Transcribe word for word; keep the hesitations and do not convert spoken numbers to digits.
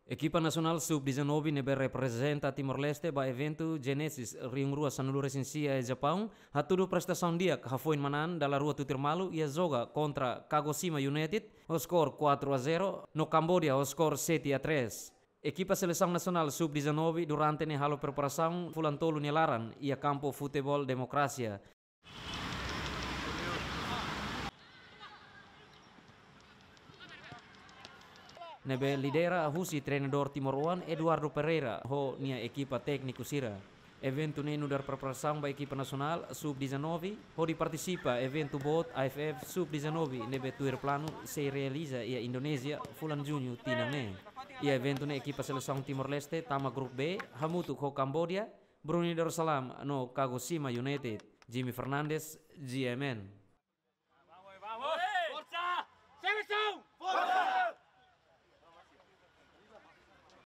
Ekipa nasionál sub dezanove ne'ebé reprezenta Timor-Leste ba eventu Genesis rihun rua sanulu-resin-sia iha Japaun hatudu prestasaun di'ak hafoin manán dala rua tutur malu iha joga kontra Kagoshima United ho skor quatro a zero no Kambodia ho skor sete a três. Ekipa selesaun nasionál sub dezanove durante ne'e halo preparasaun fulan tolu nia laran iha kampu futeból Democracia, ne'ebé lidera husi treinadór timoroan Eduardo Pereira ho nia ekipa tékniku sira. Eventu ne'e nu'udar preparasaun ba ekipa nasionál sub dezanove hodi partisipa eventu boot A F F sub dezanove ne'ebé tuir planu sei realiza iha Indonézia fulan Juñu tinan ne'e. Iha eventu ne'e ekipa selesaun Timor-Leste tama grupu B hamutuk ho Kambodia, Brunei Darussalam no Kagoshima United. Jimmy Fernandes, G M N.